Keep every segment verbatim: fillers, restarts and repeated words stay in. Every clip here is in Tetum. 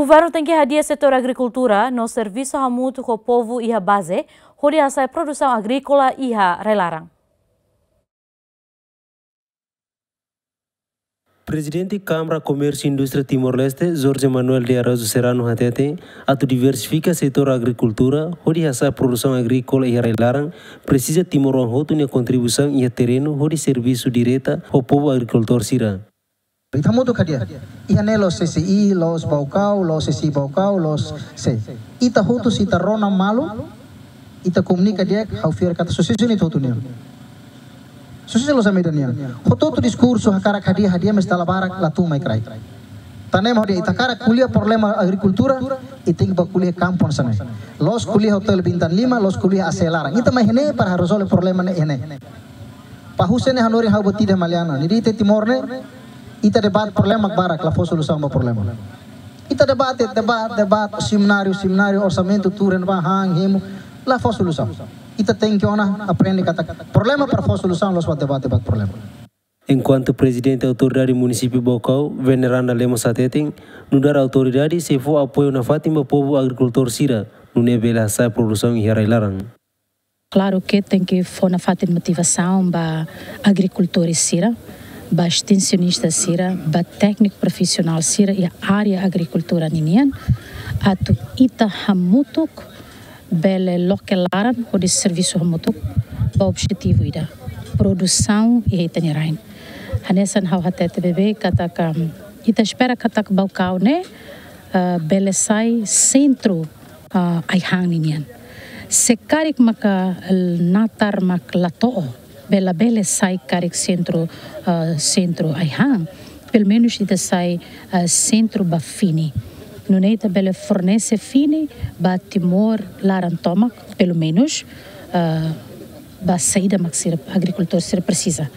Governu tenke hadi'a setór agrikultura no servisu hamutuk ho povu iha baze, hodi hasa'e produsaun agríkola iha rai-laran. Prezidente Kámara Komérsiu Indústria Timor-Leste, Jorge Manuel de Araújo Serrano hateten, atu diversifika setór agrikultura, hodi hasa'e produsaun agríkola iha rai-laran, presiza timoroan hotu nia kontribuisaun iha terrenu, hodi servisu direta ho povu agrikultór sira. Ita hamutuk hadi'a. Iha ne'e la'ós C C I, la'ós Baucau, la'ós C C I Baucau, la'ós sé. Ita hotu se ita rona malu, ita komunika di'ak, ha'u fiar katak susesu ne'e ita hotu nian. Susesu la'ós ami ida nian. Hotu-hotu diskursu hakarak hadi'a, hadi'a, mais dala barak la tun mai kraik. Tan ne'e mak hodi ita hakarak ko'alia problema agrikultura, ita tenke bá ko'alia kampu hanesan ne'e. La'ós ko'alia hotel bintang lima, la'ós ko'alia A C laran. Ita mai iha ne'e para rezolve problema ne'e iha ne'e. Pahuse ne'e hanorin ha'u buat ida, Maliana. Ne'e ita Timor ne'e, ita debate problema barak, la fó solusaun ba problema. Ita debate, debate, debate, semináriu, semináriu, orsamentu, turen ba, han, hemu, la fó solusaun. Ita tenke ona aprende katak problema para fó solusaun, la'ós ba debate, debate problema. Enkuantu Prezidente Autoridade Munisípiu Baucau, Veneranda Lemos hateten, nu'udar autoridade sei fó apoiu nafatin ba povu agrikultór sira, nune'e bele hasa'e produsaun iha rai-laran. Klaru ke tenke fó nafatin motivasaun ba agrikultór sira, ba estensionista sira, ba tékniku profisionál sira iha área agrikultura ninian, atu ita hamutuk bele loke laran hodi servisu hamutuk ba objetivu ida, produsaun iha ita-nia rain. Hanesan ha'u hatete beibeik katak, ita espera katak Baucau ne'e, eh, bele sai sentru, eh, ai-han ninian. Se karik maka natar mak la to'o, bele, bele sai karik sentru, eh, sentru ai-han, pelumenus ita sai, eh, sentru ba fini. Nune'e ita bele fornese fini ba Timor laran tomak, pelumenus, eh, ba saida mak sira agrikultór sira presiza.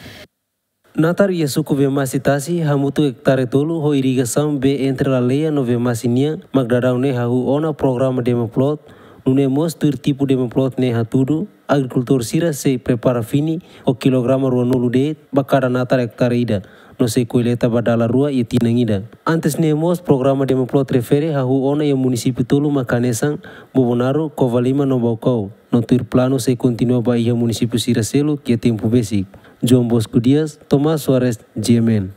Natar iha suku Vemasi Tasi hamutuk ektare tolu ho irrigasaun bee entre Laleia no Vemasi nian, mak daudaun ne'e hahú ona programa Demoplot, nune'e mós tuir tipu Demoplot ne'e hatudu, agrikultór sira sei prepara fini ho kilograma ruanulu de'it ba kada natar ektare ida, no sei kolleita ba dala rua iha tinan ida. Antes ne'e mós programa Demoplot refere hahú ona iha munisípiu tolu mak hanesan Bobonaro, Covalima no Baucau, no tuir planu sei kontinua ba iha munisípiu sira seluk iha tempu besik. João Bosco Dias, Tomás Soares, G M N.